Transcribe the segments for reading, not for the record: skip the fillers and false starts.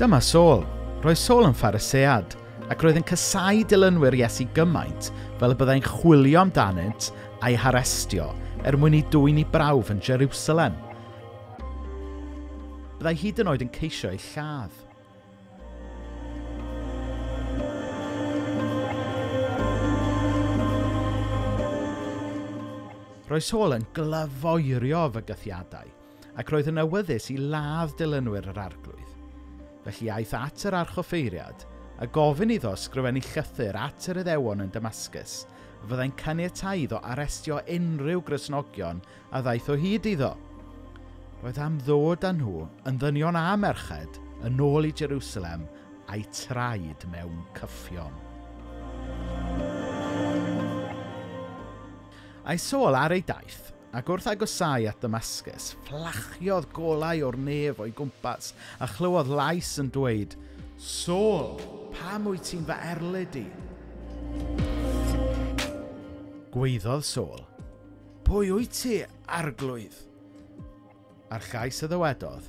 Dyma Saul. Roedd Saul yn Pharisead, ac roedd yn casáu dilynwyr Iesu gymaint fel y byddai'n chwilio amdanynt a'i harestio er mwyn i dwyn i brawf yn Jerusalem. Byddai hyd yn oed yn ceisio ei lladd. Roedd Saul yn glyfoerio fygythiadau, ac roedd yn awyddus i ladd dilynwyr yr arglwydd. Felly aeth at yr archoffeiriad a gofyn iddo ysgrifennu llythyr at yr Iddewon yn Damascus, a fyddai'n caniatáu iddo arestio unrhyw Gristnogion a ddaeth o hyd iddo. Roedd am ddod â nhw yn ddynion a merched yn ôl i Jerusalem a'i traed mewn cyffion. Aeth Saul ar ei daith, ac wrth agosáu at Damascus, fflachiodd golau o'r nef o'i gwmpas a chlywodd lais yn dweud, Saul, pam wyt ti'n fy erlid i? Gwaeddodd Saul, pwy wyt ti, arglwydd? A'r llais a ddywedodd,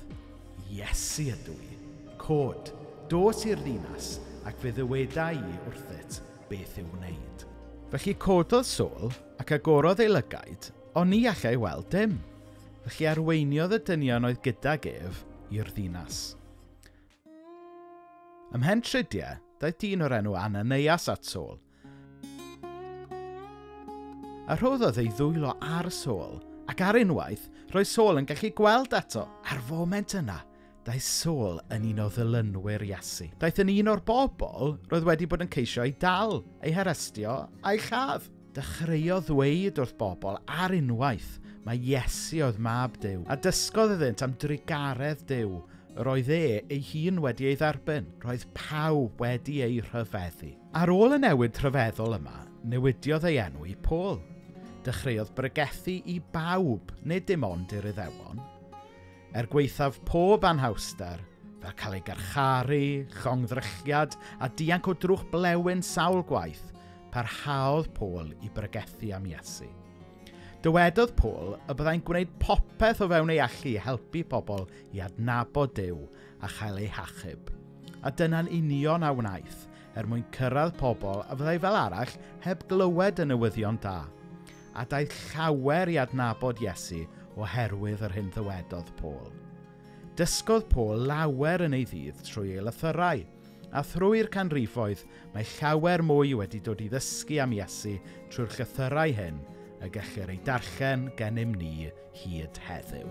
Iesu ydw i, cod, dos i'r ddinas, ac fe ddyweda i wrthyt beth i'w wneud. Felly cododd Saul ac agorodd ei lygaid, ond ni allai weld dim. Felly arweiniodd y dynion oedd gydag ef i'r ddinas. Ymhen tridiau, daeth dyn o'r enw Ananias at Saul. A rhoddodd ei ddwylo ar Saul, ac ar unwaith, roedd Saul yn gallu gweld eto. Ar foment yna, daeth Saul yn un o ddilynwyr Iesu. Daeth yn un o'r bobl roedd wedi bod yn ceisio ei dal, ei harestio a'i lladd. Dechreuodd ddweud wrth bobl ar unwaith mae Iesu oedd mab Duw, a dysgodd iddynt am drugaredd Duw yr oedd e ei hun wedi ei dderbyn. Roedd pawb wedi ei rhyfeddu. Ar ôl y newid rhyfeddol yma, newidiodd ei enw i Paul. Dechreuodd bregethu i bawb, nid dim ond i'r Iddewon. Er gwaethaf pob anhawster, fel cael ei garcharu, llongddrychiad a dianc o drwch blewyn sawl gwaith, parhaodd Paul i bregethu am Iesu. Dywedodd Paul y byddai'n gwneud popeth o fewn ei allu i helpu pobl i adnabod Duw a chael eu hachub. A dyna'n union a wnaeth er mwyn cyrraedd pobl a fyddai fel arall heb glywed y newyddion da. A daeth llawer i adnabod Iesu oherwydd yr hyn ddywedodd Paul. Dysgodd Paul lawer yn ei ddydd trwy ei lythyrau, a thrwy'r canrifoedd mae llawer mwy wedi dod i ddysgu am Iesu trwy'r llythyrau hyn y gellir ei darllen gennym ni hyd heddiw.